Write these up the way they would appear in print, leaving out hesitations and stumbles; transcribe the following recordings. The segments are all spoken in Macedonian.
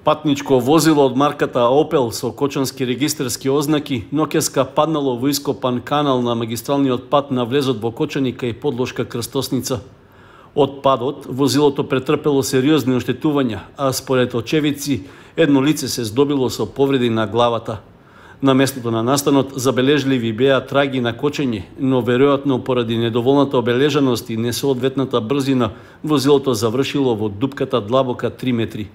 Патничко возило од марката Opel со кочански регистарски ознаки ноќеска паднало во ископан канал на магистралниот пат на влезот во Кочани кај подлошка крстосница. Од падот возилото претрпело сериозни оштетувања, а според очевидци едно лице се здобило со повреди на главата. На местото на настанот забележливи беа траги на кочење, но веројатно поради недоволната обележаност и несоодветната брзина возилото завршило во дупката длабока 3 метри.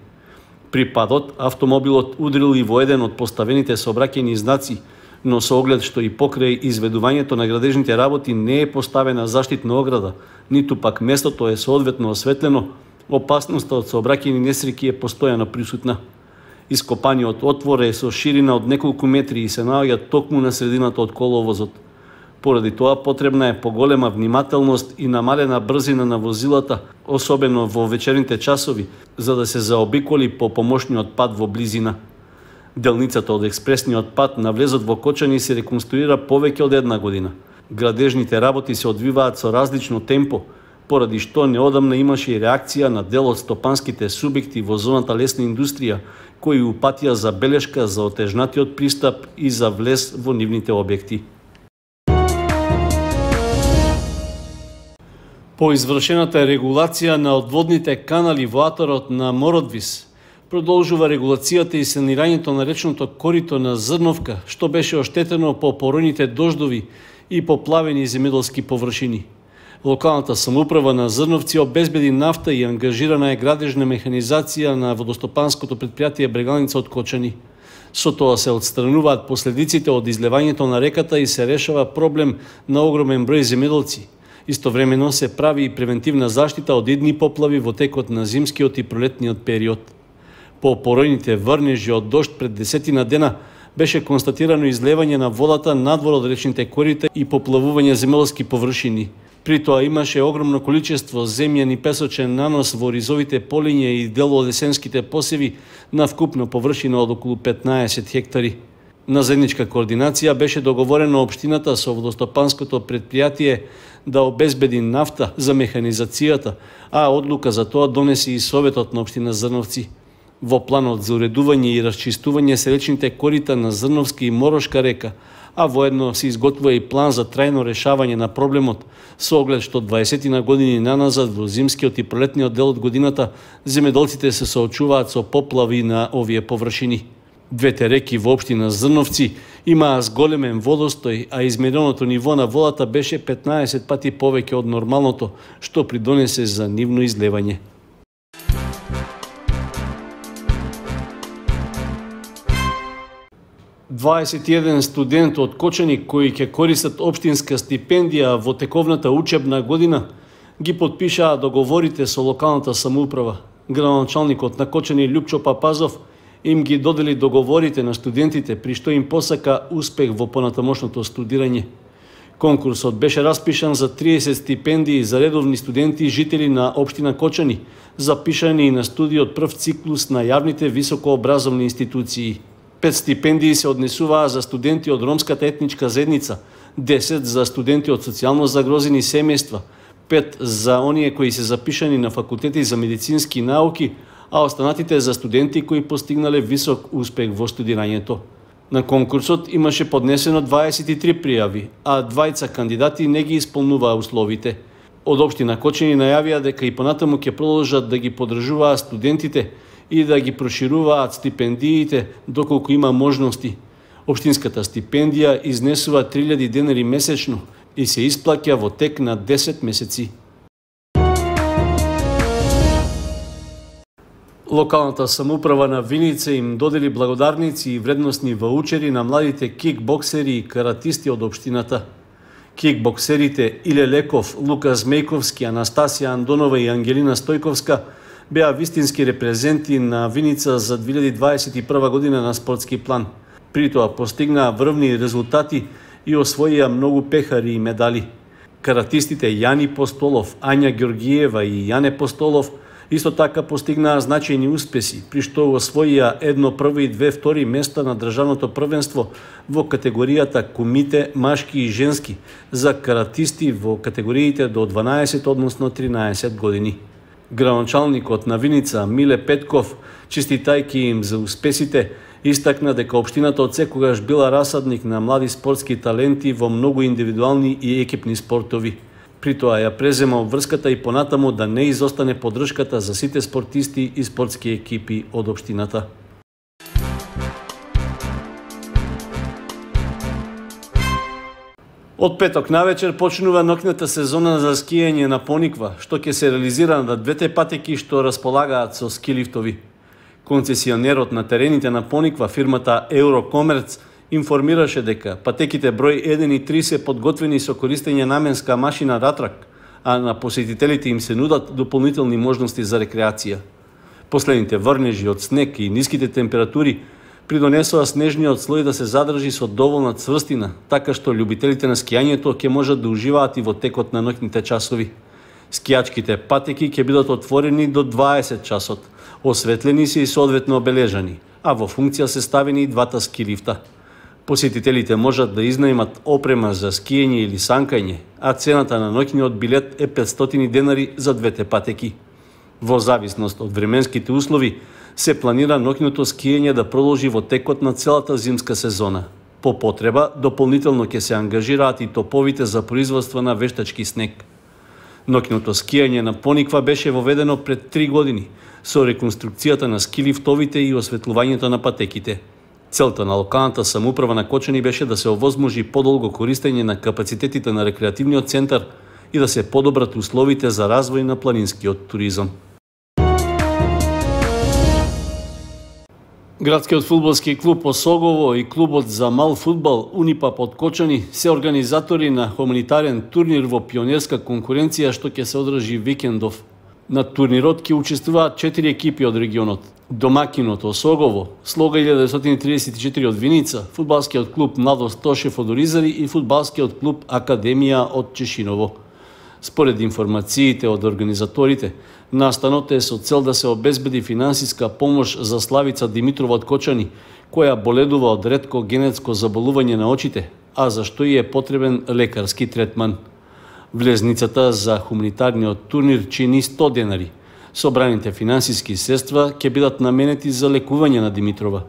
При падот, автомобилот удрил и во еден од поставените сообраќајни знаци, но со оглед што и покрај изведувањето на градежните работи не е поставена заштитна ограда, ниту пак местото е соодветно осветлено, опасноста од сообраќајни несреќи е постојано присутна. Ископаниот отвор е со ширина од неколку метри и се наоѓа токму на средината од коловозот. Поради тоа потребна е поголема внимателност и намалена брзина на возилата, особено во вечерните часови, за да се заобиколи по помошниот пат во близина. Делницата од експресниот пат на влезот во Кочани се реконструира повеќе од една година. Градежните работи се одвиваат со различно темпо, поради што неодамна имаше и реакција на дел од стопанските субјекти во зоната лесна индустрија, кои упатија забелешка за отежнатиот пристап и за влез во нивните објекти. По извршената регулација на одводните канали во атарот на Мородвис, продолжува регулацијата и санирањето на речното корито на Зрновка, што беше оштетено по поројните дождови и поплавени земјоделски површини. Локалната самоуправа на Зрновци обезбеди нафта и ангажирана е градежна механизација на водостопанското предпријатие Брегалница од Кочани. Со тоа се отстрануваат последиците од излевањето на реката и се решава проблем на огромен број земјоделци. Истовремено се прави и превентивна заштита од идни поплави во текот на зимскиот и пролетниот период. По поројните врнежи од дожд пред 10 дена беше констатирано излевање на водата надвор од речните корита и поплавување земјоделски површини. При тоа имаше огромно количество земјен и песочен нанос во ризовите полиња и дел од есенските посеви на вкупна површина од околу 15 хектари. На заедничка координација беше договорено општината со водостопанското предпријатие да обезбеди нафта за механизацијата, а одлука за тоа донесе и Советот на општина Зрновци. Во планот за уредување и расчистување се речните корита на Зрновска и Морошка река, а воедно се изготвува и план за трајно решавање на проблемот, со оглед што 20 години наназад во зимскиот и пролетниот дел од годината земјоделците се соочуваат со поплави на овие површини. Двете реки во општина Зрновци имаа зголемен водостој, а измереното ниво на водата беше 15 пати повеќе од нормалното, што придонесе за нивно излевање. Дваесет и еден студент од Кочани кои ќе користат општинска стипендија во тековната учебна година ги потпишаа договорите со локалната самоуправа. Градоначалникот на Кочани Љупчо Папазов им ги додели договорите на студентите, при што им посака успех во понатамошното студирање. Конкурсот беше распишан за 30 стипендии за редовни студенти и жители на општина Кочани, запишани на студии од прв циклус на јавните високообразовни институции. 5 стипендии се однесуваа за студенти од ромската етничка заедница, 10 за студенти од социјално загрозени семејства, 5 за оние кои се запишани на факултети за медицински науки, а останатите за студенти кои постигнале висок успех во студирањето. На конкурсот имаше поднесено 23 пријави, а двајца кандидати не ги исполнуваа условите. Од општина Кочани најавија дека и понатаму ќе продолжат да ги поддржуваат студентите и да ги прошируваат стипендиите доколку има можности. Општинската стипендија изнесува 3000 денари месечно и се исплаќа во тек на 10 месеци. Локалната самоуправа на Виница им додели благодарници и вредносни ваучери на младите кикбоксери и каратисти од општината. Кикбоксерите Иле Леков, Лука Змејковски, Анастасија Андонова и Ангелина Стојковска беа вистински репрезенти на Виница за 2021 година на спортски план. При тоа постигнаа врвни резултати и освоија многу пехари и медали. Каратистите Јани Постолов, Ања Ѓоргиева и Јане Постолов исто така постигнаа значајни успеси, при што освоија едно прво и две втори места на државното првенство во категоријата кумите машки и женски за каратисти во категориите до 12, односно 13 години. Градоначалникот на Виница Миле Петков, честитајќи им за успесите, истакна дека општината од секогаш била расадник на млади спортски таленти во многу индивидуални и екипни спортови. При тоа ја презема обврската и понатаму да не изостане поддршката за сите спортисти и спортски екипи од општината. Од петок навечер почнува ноќната сезона за скијање на Пониква, што ќе се реализира на двете патеки што располагаат со скилифтови. Концесионерот на терените на Пониква, фирмата Eurocommerce, информираше дека патеките број 1 и 3 се подготвени со користење наменска машина ратрак, а на посетителите им се нудат дополнителни можности за рекреација. Последните врнежи од снег и ниските температури придонесоа снежниот слој да се задржи со доволна цврстина, така што љубителите на скијањето ќе можат да уживаат и во текот на ноќните часови. Скијачките патеки ќе бидат отворени до 20 часот, осветлени се и соодветно обележани, а во функција се ставени и двата ски лифта. Посетителите можат да изнајмат опрема за скијање или санкање, а цената на ноќниот билет е 500 денари за двете патеки. Во зависност од временските услови, се планира ноќното скијање да продолжи во текот на целата зимска сезона. По потреба, дополнително ќе се ангажираат и топовите за производство на вештачки снег. Ноќното скијање на Пониква беше воведено пред 3 години, со реконструкцијата на скилифтовите и осветлувањето на патеките. Целта на локалната самоуправа на Кочани беше да се овозможи подолго користење на капацитетите на рекреативниот центар и да се подобрат условите за развој на планинскиот туризам. Градскиот фудбалски клуб Осогово и клубот за мал фудбал Унипап од Кочани се организатори на хуманитарен турнир во пионерска конкуренција што ќе се одржи викендов. На турнирот ќе учествуваат 4 екипи од регионот. Домакинот Осогово, Слога 1934 од Виница, фудбалскиот клуб Младост Тошев од Оризари и фудбалскиот клуб Академија од Чешиново. Според информациите од организаторите, настанот е со цел да се обезбеди финансиска помош за Славица Димитрова од Кочани, која боледува од ретко генетско заболување на очите, а за што и е потребен лекарски третман. Влезницата за хуманитарниот турнир чини 100 денари. Собраните финансиски средства ќе бидат наменети за лекување на Димитрова.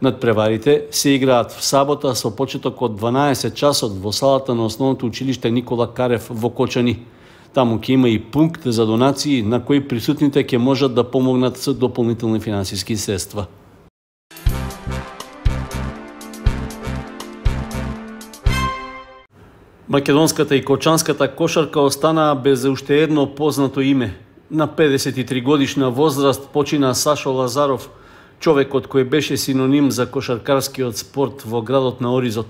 Надпреварите се играат в сабота со почеток од 12 часот во салата на основното училиште Никола Карев во Кочани. Таму ќе има и пункт за донации на кои присутните ќе можат да помогнат со дополнителни финансиски средства. Македонската и кочанската кошарка останаа без уште едно познато име. На 53 годишна возраст почина Сашо Лазаров, човекот кој беше синоним за кошаркарскиот спорт во градот на Оризот.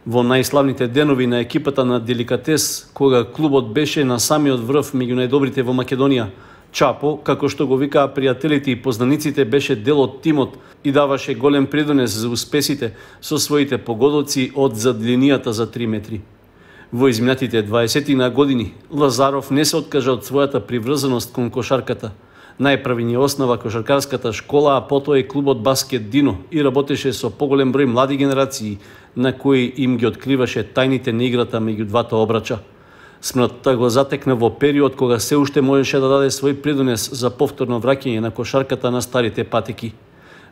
Во најславните денови на екипата на Деликатес, кога клубот беше на самиот врв меѓу најдобрите во Македонија, Чапо, како што го викаа пријателите и познаниците, беше дел од тимот и даваше голем придонес за успесите со своите погодоци од зад линијата за 3 метри. Во изминатите 20 на години, Лазаров не се откажа од својата приврзаност кон кошарката. Најпрви ни основа кошаркарската школа, а потоа и клубот Баскет Дино и работеше со поголем број млади генерации на кои им ги откриваше тајните на играта меѓу двата обрача. Смртта го затекна во период кога се уште можеше да даде свој придонес за повторно враќање на кошарката на старите патеки.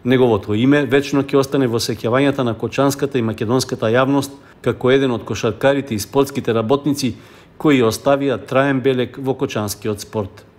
Неговото име вечно ќе остане во сеќавањата на кочанската и македонската јавност како еден од кошаркарите и спортските работници кои оставија траен белег во кочанскиот спорт.